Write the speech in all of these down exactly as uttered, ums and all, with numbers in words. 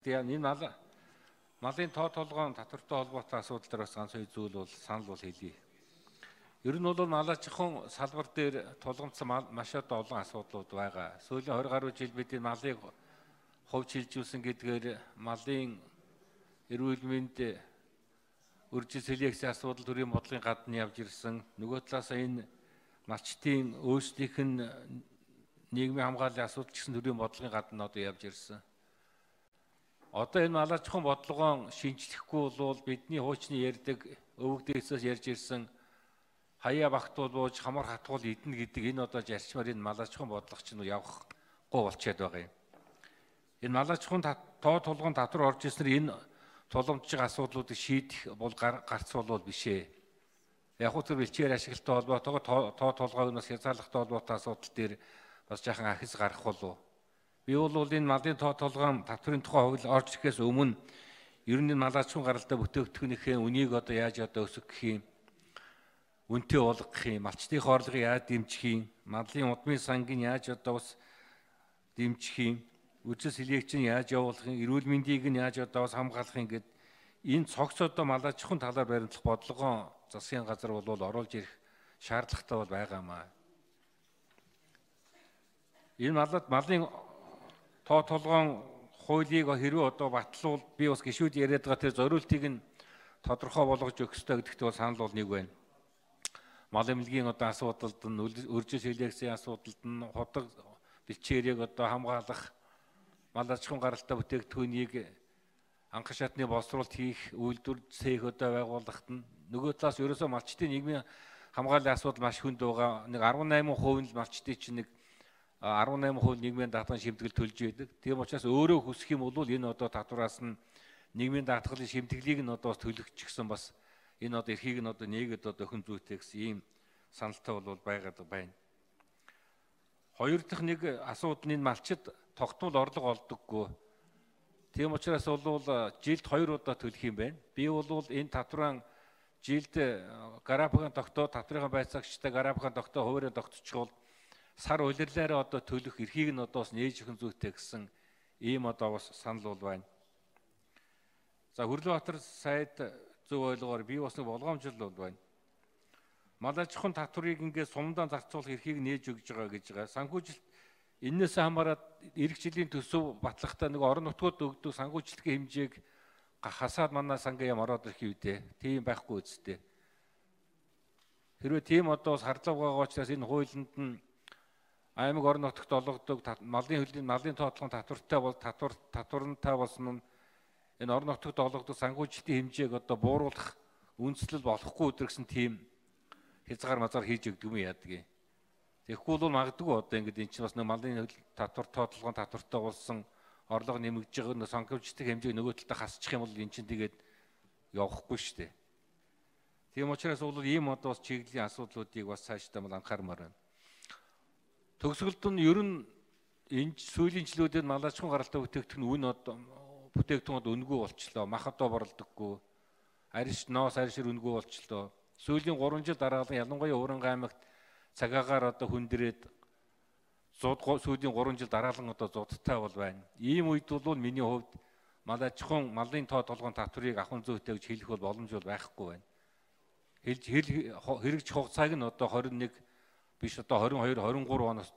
Тэгээ энэ мал малын тоо толгоон татвартай холбоотой асуудал дээр бас ганц хоёр зүйл бол санал бол хэлье. Ер нь бол малаачхан салбар дээр тулгамдсан маш одоо олон асуудлууд байгаа. Сүүлийн двадцать гаруй жил бид энэ малыг хувьч хилжүүлсэн гэдгээр малын эрүүл мэнд үржил селекцийн асуудал төрийн бодлогын гадна явж ирсэн. Нөгөө талаас энэ малчтын өөрсдийнх нь нийгмийн хамгааллын асуудал гэсэн төрийн бодлогын гадна одоо явж ирсэн. Одоо энэ малаачхан бодлогоон шинжлэхгүй бол бидний хуучны ярьдаг өвөг дээсээс ярьж ирсэн хаяа багтуул бууж хамар хатгуул идэнэ гэдэг энэ одоо зарчмаар энэ малаачхан бодлого чинь явахгүй болчиход байгаа юм. Энэ малаачхан тоо тулгын татвар орж ирснээр энэ тулгамдж байгаа асуудлуудыг шийдэх бол гарцуул бол биш ээ. Яг уу тэр бэлчээр ашигладаг холбоотойгоо тоо толгойг бас хязгаарлахтай холбоотой асуудал дээр бас жаахан ахис гарах болов. Би бол энэ малын тоо толгойн татврын тухай хууль орж ирэхээс өмнө ер нь малаачхан гаралтай бүтээгдэхүүнийхээ үнийг одоо яаж одоо өсгөх юм, үнэтэй болгох юм, малчтын орлогыг яаж дэмжих юм, малын удмын сангийн яаж одоо бас дэмжих юм, үржил селекцийг яаж явуулах юм, эрүүл мэндийг нь яаж одоо бас хамгаалах юм гэд энэ цогц одоо малаачхан талаар баримтлах бодлогоо засгийн газар бол оруулж ирэх шаардлагатай бол байгаамаа. Энэ малад малын тоо толгоон хуулийг хэрвээ одоо батлуул би бас гишүүд яриад байгаа тэр зориултыг нь тодорхой болгож өгөх ёстой гэдэгт бол санал бол нэг байна. Мал эмнэлгийн одоо асуудалд нь үржил селекцийн асуудалд нь худаг бэлчээрийг одоо хамгаалах, мал аж ахуйн гаралтай бүтээгдэхүүнийг анхан шатны боловсруулалт хийх үйлдвэр цэх одоо байгуулахад нь нөгөө талаас ерөөсөө малчтын нийгмийн хамгааллын асуудал маш хүнд байгаа. Нэг арван найман хувийн малчтын чинь нэг арван найман хувь нийгмийн даатгалын шимтгэл төлж байдаг. Тийм учраас өөрөө хүсэх юм бол энэ одоо татвараас нь нийгмийн даатгалын шимтгэлийг нь одоо төлөгчсөн бас энэ одоо эрхийг нь одоо нээгээд одоо өхөн зүйтэй гэсэн ийм саналтай бол байгаад байна. Хоёр дахь нэг асуудал нь энэ малчид тогтмол орлого олдоггүй. Тийм учраас бол жилд хоёр удаа төлөх юм байна. Би бол энэ татвараа жилд гарапагийн тогтоо татврын байцаагчтай гарапагийн тогтоо хуваарийн тогтчихвол сар улирлаараа одоо төлөх эрхийг нь одоо бас нээж өгөх зүйтэй гэсэн ийм одоо бас санал бол байна. За Хүрлбаатар сайд зөв ойлгоор би бас нэг болгоомжл бол байна. Мал аж ахуйн татварыг ингээд сумдаа зарцуулах эрхийг нээж өгж байгаа гэж байгаа. Санхүүжилт энээс хамаарат эх жилийн төсөв батлахтаа нэг орон нутгууд өгдөг санхүүжилтийн хэмжээг хасаад манай сангийн яам ороод ирэх үедээ тийм байхгүй үсттэй. Хэрвээ тийм одоо бас хардлага байгаа учраас энэ хуулинд нь аймаг орон нутагт олгодог малын хөлийн малын тоотлогын татвартай бол татвар татварантай болсон нь энэ орон нутагт олгодог санхүүжилтийн хэмжээг одоо бууруулах үндэслэл болохгүй өдрөгсөн тийм хязгаар мазар хийж өгдөг юм яадаг юм. Тэгэхгүй бол магадгүй одоо ингэдэг энэ чинь бас нэг малын татвар тоотлогын татвартай болсон орлого нэмэгдэж байгаа нэг санхүүжилтийн хэмжээг нөгөө талдаа хасчих юм бол энэ чинь тэгээд явахгүй шүү дээ. Тийм учраас бол ийм одоо бас чиглэлийн асуудлуудыг бас цаашдаа мал анхаармаар байна. Төгсгөлд нь ер нь энэ сүүлийн жилүүдэд мал аж ахуйн гаралтай бүтээгдэхүүн үн одоо бүтээгдэхүүнүүд үнэгүй болчлоо. Мах одоо борлдоггүй. Ариш ноос аришэр үнэгүй болчлоо. Сүүлийн гурван жил дараалан ялангуяа Уурангай аймагт цагаагаар одоо хүндрээд зууд сүүлийн гурван жил дараалан одоо зудтай бол байна. Ийм үед бол миний хувьд мал аж ахуйн малын тоо толгойн татварыг ахын зүйтэй гэж хэлэх бол боломж бол байхгүй байна. Хэлж хэрэгжих хугацааг нь одоо двадцать one биш одоо twenty-two twenty-three оноос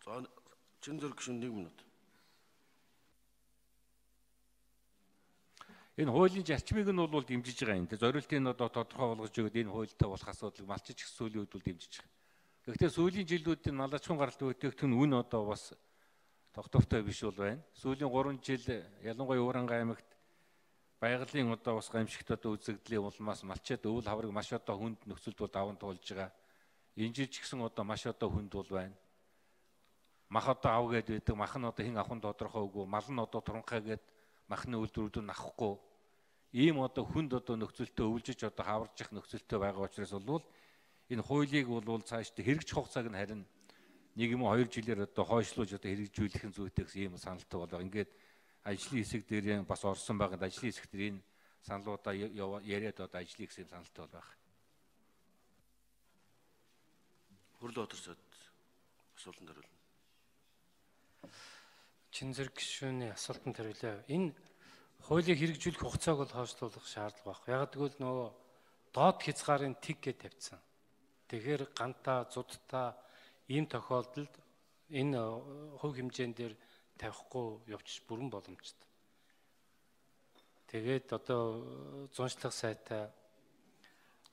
За чин зэрэг шин нэг минут. Энэ хуулийн зарчмыг нь бол дэмжиж байгаа юм. Тэгээ зориултыг нь одоо тодорхой болгож өгöd энэ хуультай болох асуудлыг малчиж их сүүлийн үед бол дэмжиж байгаа. Гэхдээ сүүлийн жилүүдийн мал аж ахуйн гаралтай бүтээгдэхүүн үн одоо бас тогтвортой биш бол байна. Сүүлийн гурван жил ялангуяа Уурангай аймагт байгалийн одоо бас гамшигт одоо үзэгдлийн улмаас малчид өвөл хаврыг маш одоо хүнд нөхцөлд бол даван туулж байгаа. Энэ жил ч гэсэн одоо маш одоо хүнд бол байна. Мах одоо ав гээд байдаг, мах нь одоо хин авахын тодорхой үгүй, мал нь одоо туранхай гээд махны үйлдвэрүүд нь авахгүй. Ийм одоо хүнд одоо нөхцөлтөө өвлжиж одоо хаварж их нөхцөлтөө байгаа учраас бол энэ хуулийг бол цаашдаа хэрэгжих хугацааг нь харин нэг юм хоёр жилээр одоо хойшлуулж одоо хэрэгжүүлэх нь зүйтэй гэсэн ийм саналтай болоо. Ингээд ажлын хэсэг дээр бас орсон байгаад ажлын хэсэг дээр энэ саналуудаа яриад одоо ажиллая гэсэн саналтай бол байна. Хөрлөө өдөрсөд асуултанд хариулна. Чин зэрэг гишүүний асуултанд хариулъя. Энэ хуулийг хэрэгжүүлэх хугацааг бол хойшлуулах шаардлага байхгүй. Яг тэгвэл нөгөө доод хязгаарын тэг гэж тавьсан. Тэгэхээр гантаа, зудтаа ийм тохиолдолд энэ хувь хэмжээнд дээр тавихгүй явчих бүрэн боломжтой. Тэгээд одоо зуншлах сайтай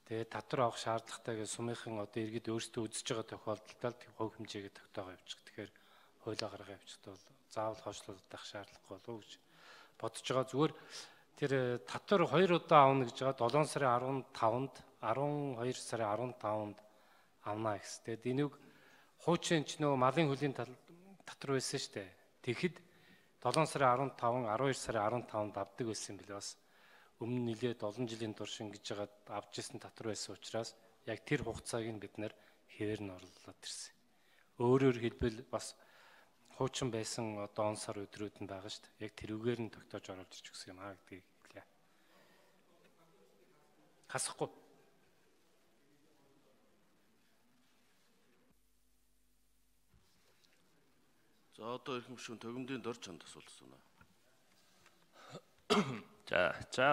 тэгээд татвар авах шаардлагатай гэж сумынхан одоо иргэд өөрсдөө үзэж байгаа тохиолдолд хувь хэмжээгээ тогтоогоо явуучих. Тэгэхээр хуулиа гаргах явчихтаа бол заавал хойшлуулах шаардлагагүй болов уу гэж бодож байгаа. Зүгээр тэр татвар хоёр удаа авна гэж байгаа долоон сарын арван таванд арван хоёр сарын арван таванд авна гэсэн. Тэгээд энийг хуучин ч нөгөө малын хөлийн татвар байсан шүү дээ. Тэгэхэд долоон сарын арван таван арван хоёр сарын арван таванд авдаг байсан юм билээ бас. Өмнө нэлээд олон жилийн турш ингэж байгаа авч ирсэн татвар байсан учраас яг тэр хугацааг нь бид нэр хэвээр нь орлуулад ирсэн. Өөрөөр хэлбэл бас хуучин байсан одоо он сар өдрүүд нь байгаа шүү дээ. Яг тэрүүгээр нь тогтоож оруулж ирж гисэн юм аа гэдгийг хэлье. Хасахгүй. За одоо эрхэм гишүүн төгөмдийн дор чанд асуулт асууна. За, за